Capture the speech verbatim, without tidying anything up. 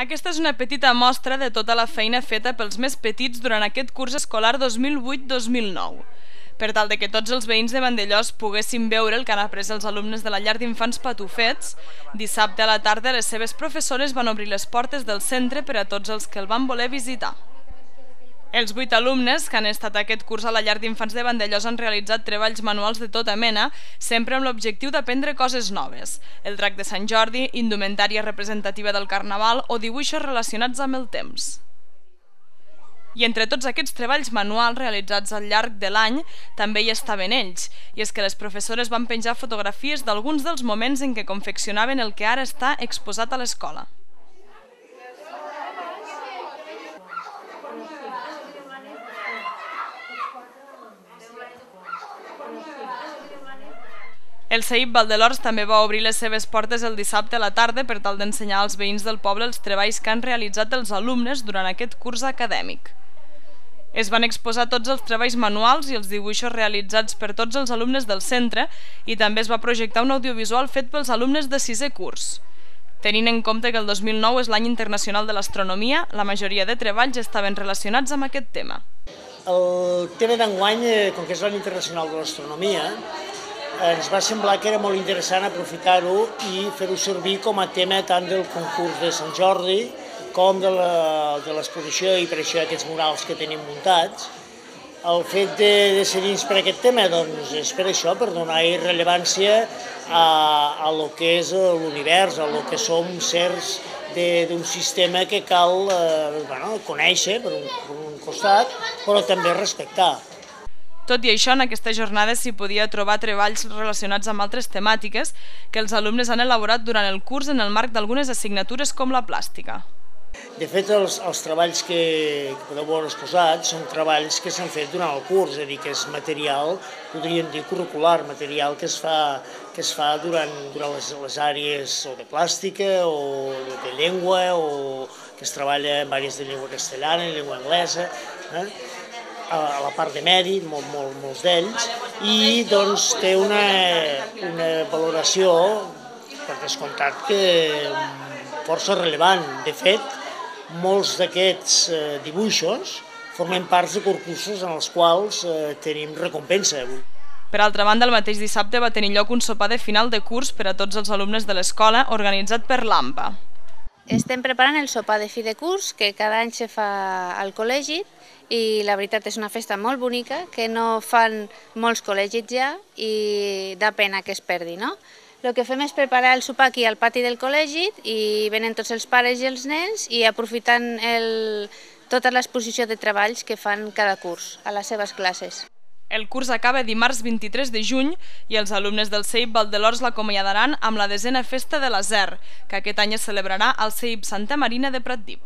Aquesta és una petita mostra de tota la feina feta pels més petits durant aquest curs escolar dos mil vuit dos mil nou. Per tal de que tots els veïns de Vandellòs poguessin veure el que han après els alumnes de la llar d'infants Patufets, dissabte a la tarda les seves professores van obrir les portes del centre per a tots els que el van voler visitar. Els vuit alumnes que han estat aquest curs a la llar d'infants de Vandellòs han realitzat treballs manuals de tota mena, sempre amb l'objectiu d'aprendre coses noves. El drac de Sant Jordi, indumentària representativa del Carnaval o dibuixos relacionats amb el temps. I entre tots aquests treballs manuals realitzats al llarg de l'any també hi estaven ells, i és que les professores van penjar fotografies d'alguns dels moments en què confeccionaven el que ara està exposat a l'escola. El C E I P Valdelors també va obrir les seves portes el dissabte a la tarda per tal d'ensenyar als veïns del poble els treballs que han realitzat els alumnes durant aquest curs acadèmic. Es van exposar tots els treballs manuals i els dibuixos realitzats per tots els alumnes del centre i també es va projectar un audiovisual fet pels alumnes de sisè curs. Tenint en compte que el dos mil nou és l'any internacional de l'astronomia, la majoria de treballs estaven relacionats amb aquest tema. El tema d'enguany, com que és l'any internacional de l'astronomia, ens va semblar que era molt interessant aprofitar-ho i fer-ho servir com a tema tant del concurs de Sant Jordi com de l'exposició i per això aquests murals que tenim muntats. El fet de decidir-nos per aquest tema doncs, és per això, per donar-hi rellevància a, a lo que és l'univers, a lo que som certs d'un sistema que cal eh, bueno, conèixer per un, per un costat, però també respectar. Tot i això, en aquesta jornada s'hi podia trobar treballs relacionats amb altres temàtiques que els alumnes han elaborat durant el curs en el marc d'algunes assignatures com la plàstica. De fet, els, els treballs que, que podeu veure exposats són treballs que s'han fet durant el curs, és a dir, que és material, podríem dir curricular, material que es fa, que es fa durant, durant les, les àrees o de plàstica o de llengua o que es treballa en àrees de llengua castellana, llengua anglesa, eh? a la part de mèrit, molt, molt, molts d'ells, i doncs té una, una valoració, per descomptat, que força rellevant. De fet, molts d'aquests dibuixos formen parts de concursos en els quals tenim recompensa. Per altra banda, el mateix dissabte va tenir lloc un sopar de final de curs per a tots els alumnes de l'escola, organitzat per l'AMPA. Estem preparant el sopar de fi de curs, que cada any se fa al col·legi, i la veritat és una festa molt bonica que no fan molts col·legis ja i dà pena que es perdi, no? El que fem és preparar el sopar aquí al pati del col·legi i venen tots els pares i els nens i aprofitant el, tota l'exposició de treballs que fan cada curs a les seves classes. El curs acaba dimarts vint-i-tres de juny i els alumnes del C E I P Valdelors l'acomiadaran amb la desena festa de l'Aser, que aquest any es celebrarà al C E I P Santa Marina de Pratdip.